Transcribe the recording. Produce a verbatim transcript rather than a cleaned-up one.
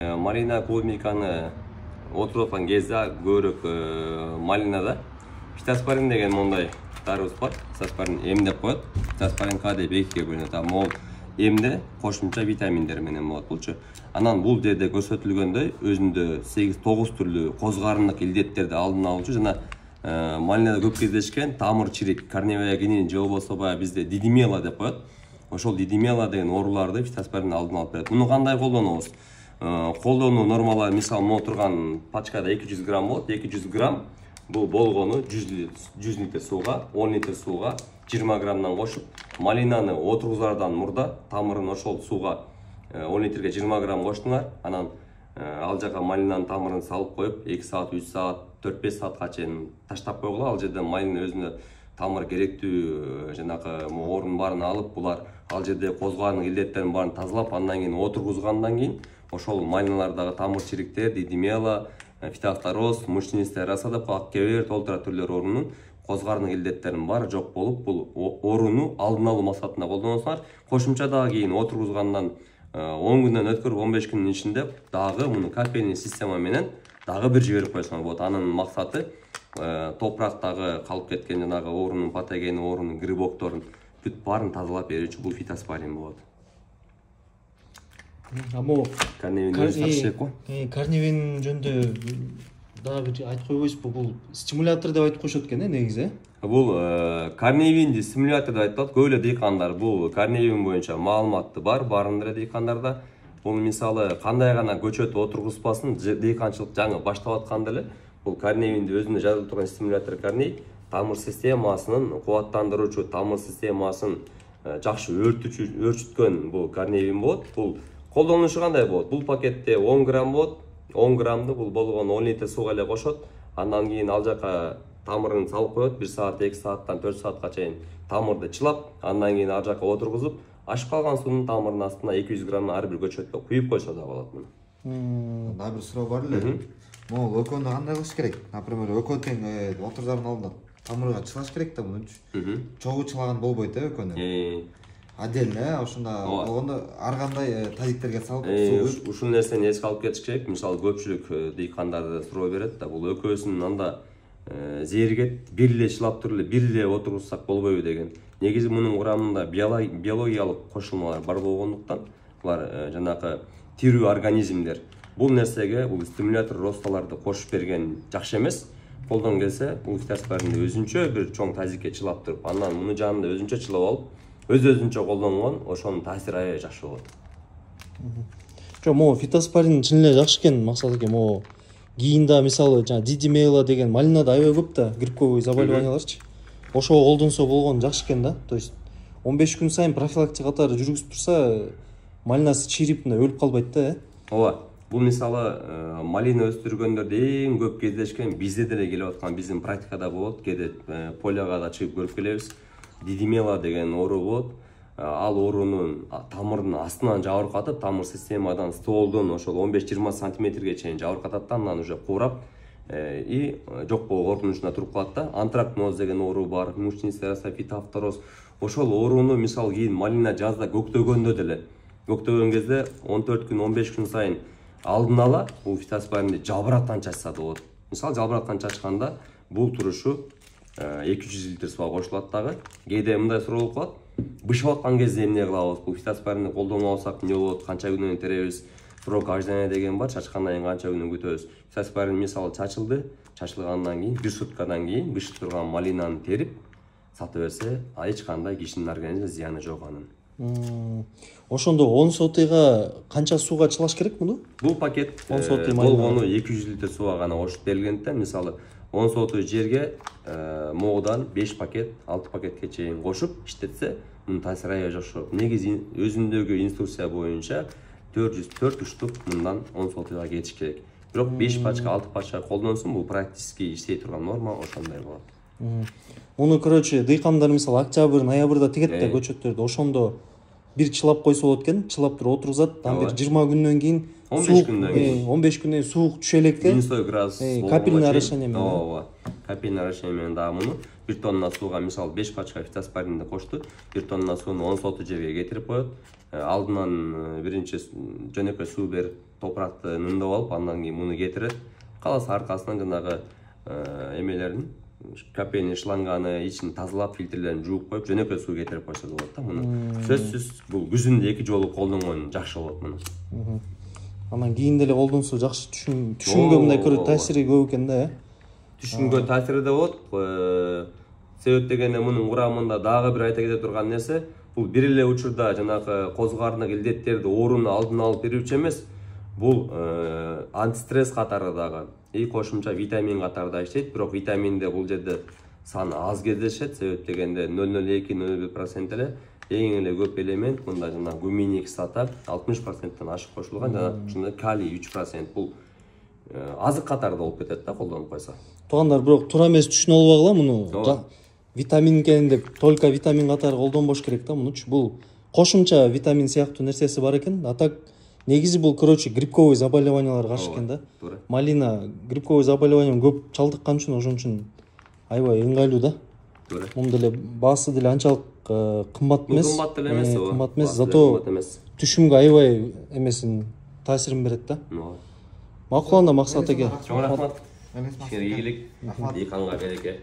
Малина клубниканы отырып жатқан кезде көріп малинада фитоспорин деген мондай дарыбыз бар. Фитоспорин М деп қояды. Фитоспорин К деп екіге бөлінеді. Мол М'де қосымша витаминдер менен болады. Бұлчы анан бул жерде көрсөтүлгөндөй өзүндө сегиз тогуз түрлүү козгарындык илдеттерди алдын алуучу жана малинада көп кездешкен тамыр чирик, корневая гниль же болбосо баягы бизде дидимела деп коет. Ошол дидимела деген ооруларды фитоспорин алдын алып берет. Муну кандай колдонобуз? Колдонуу нормалары мисалы могу турган пачкада эки жүз грамм болот. эки жүз грамм бул болгону жүз литр сууга, он литр сууга жыйырма граммдан кошуп, малинаны отургузардан мурда тамырын ошол сууга он литрге жыйырма грамм коштуңар. Анан ал жака малинанын тамырын салып коюп, эки саат, үч саат, төрт беш саатка чейин таштап койгула. Ал жерде малина өзүнө тамыр керектүү жанагы орун барын алып, булар ал жерде козгоонун илдеттерин барын тазалап, андан кийин отургузгандан кийин ошол малиналардагы тамыр чириктер, дидимела, фитофтороз, мучнистый рассадап, аккебер, толтура түрлөр оорунун козгардын илдеттерин баары жок болуп, бул ооруну алдын алуу максатында колдоносуңар. Кошумча дагы кийин отургузгандан он күндөн өткөрүп он беш күндүн ичинде дагы муну капельный система менен дагы бир жиберип койсоңор болот. Анын максаты топурактагы калып кеткен жанагы оорунун патогени, оорунун грибокторун бүт баарын тазалап берүүчү бул фитоспорин болот. Амо карневин жөнүндө дагы бир айтып койбойсузбу? Бул стимулятор деп айтып коюшат экен, негизи. Бул карневинди стимулятор деп айтылат. Көп эле дыйкандар бул карневин боюнча маалыматы бар, баарында эле дыйкандарда. Бул мисалы кандай гана көчөт отургузбасын, дыйканчылык жаңы баштап атканда эле бул карневинди өзүндө жазылып турган стимулятор карней тамыр системасынын кубаттандыруучу, тамыр системасын жакшы өөрчүткөн бул карневин болот. Бул колдонушу кандай болот? Бул пакетте он грамм болот. он граммды бул болгон он литр сууга эле кошот. Андан кийин ал жака тамырын салып коет. бир саат, эки сааттан төрт саатка чейин тамырды чылап, андан кийин ал жака отургузуп, ашып калган суунун тамырынын астына эки жүз грамм ар бир көчөткө куюп койсо да болот муну. Дагы бир суроо бар эле. Могу өкөнү кандай кылыш керек? Например, өкөн тең отурзардын алдында тамырга чылаш керек да мунчу. Чогуу чылаган болбойт э өкөнү. Отдельно ошондо болгондо ар кандай тазиктерге салып суу. Ушул нерсени эске алып кетиш керек. Мисалы көпчүлүк дыйкандар суроо берет да, бул өкөөсүн анда зээригет, бир эле чылап туруп эле бир эле отургузсак болбойбу деген. Негизи мунун курамында биологиялык кошулмалар бар болгондуктан, булар жанагы тирүү организмдер. Бул нерсеге бул стимулятор росталарды кошуп берген жакшы эмес. Колдон келсе, бул фитоспоринди өзүнчө бир чоң тазикке чылап туруп, андан муну жанында өзүнчө чылап алып, өз-өзүнчө колдонгон, ошонун таасири аябай жакшы болот. Жок, могу фитоспорин чын эле жакшы экен, максаты экен. Могу кийинде мисалы жана дидимела деген малинада аябай көп да грибковый заболеванияларчы. Ошого колдонсо болгон жакшы экен да. То есть он беш күн сайын профилактика катары жүргүзүп турса, малинасы чирип өлүп калбайт да, э? Ооба. Бул мисалы малина өстүргөндөрдө эң көп кездешкен бизде деле келип аткан биздин практикада болот. Кээде поляга да чыгып көрүп келебиз. Дидимела деген оору болот. Ал оорунун тамырынын астынан жабыркатып, тамыр системадан стволдон ошол он беш жыйырма сантиметрге чейин жабыркатат да, андан уже куурап и жок болуу коркунучуна туруп калат да. Антракноз деген оору бар, мучнистый рассадап, фитофтороз. Ошол ооруну мисалы кийин малина жазда көктөгөндө деле, көктөгөн кезде он төрт күн, он беш күн сайын алдын ала бул фитоспоринди жалбырактан чачса да болот. Мисалы жалбырактан чачканда бул турушу эки жүз литр сууга кошулат дагы. Кээде мындай суроо болуп калат. Бышып аткан кезде эмне кылабыз? Бул фитоспоринди колдоно алсак эмне болот? Канча күнөн теребиз? Срок ожидания деген бар. Чачкандан кийин канча күнөн күтөбүз? Фитоспорин мисалы чачылды, чачылгандан кийин бир суткадан кийин бышып турган малинаны терип сатып берсе, эч кандай кишинин организмине зыяны жок анын. Ошондо он сотыйга канча сууга чылаш керек муну? Бул пакет болгону эки жүз литр сууга гана кошуп берилгендиктен, мисалы он сотый жерге могудан беш пакет, алты пакетке чейин кошуп иштетсе, мунун таасири аябай жакшы болот. Негизи өзүндөгү инструкция боюнча төрт жүз төрт уштук мындан он сотыйга кетиш керек. Бирок беш пачка, алты пачка колдонсун, бул практически иштей турган норма ошондой болот. Муну, короче, дыйкандар мисалы октябрь, ноябрда тигет да көчөттөрдү. Ошондо бир чылап койсо болот экен, чылап туруп отургузат. Ан бир жыйырма күндөн кийин он беш күндөн кийин он беш күндөн суук түшө электе. минус градус капельный орошение менен. Ооба. Капельный орошение менен дагы муну бир тонна сууга мисалы беш пачка фитоспоринди кошту. бир тонна сууну он соты жерге кетирип коет. Алдынан биринчи жөнөкөй суу берип топыракты нымдап алып, андан кийин муну кетирет. Каласы аркасынан жанагы эмелерин, капельный шланганы ичин тазалап, фильтрлерин жууп коюп, жөнөкөй суу кетирип койсо болот да муну. Сөзсүз бул күзүндө эки жолу колдонгон жакшы болот муну. Анан кийин деле колдонсо жакшы түшүнгө мындай көрө таасири көп экен да, э? Түшүнгө таасири да болот. Себеп дегенде мунун курамында дагы бир айта кете турган нерсе, бул бир эле учурда жанагы козу карындагы илдеттерди, ооруну алдын алып берүүчү эмес, бул антистресс катары дагы, и кошумча витамин катары да иштейт. Бирок витаминде бул жерде саны аз кездешет. Себеп дегенде нөл нөл эки — нөл бир процент эле эң эле көп элемент мында жана гуминий кислота алтымыш проценттен ашык кошулган, жана ушунда калий үч процент. Бул азык катары да болуп кетет да колдонуп койсо. Туугандар, бирок туура эмес түшүнүп албагыла муну. Витамин экен деп только витамин катары колдонбош керек да мунучу. Бул кошумча витамин сыяктуу нерсеси бар экен. А так негизи бул, короче, грибковый заболеванияларга каршы экен да. Малина грибковый заболевание көп чалдыккан үчүн ошон үчүн аябай ыңгайлуу да. Мун деле баасы деле анчалык кымбат эмес. Кымбат деле эмес, ооба. Кымбат эмес, зато түшүмгө аябай эмесин таасирин берет да. Макул анда Максат эке. Чоң рахмат. Кичине ийгилик, ийканга береке.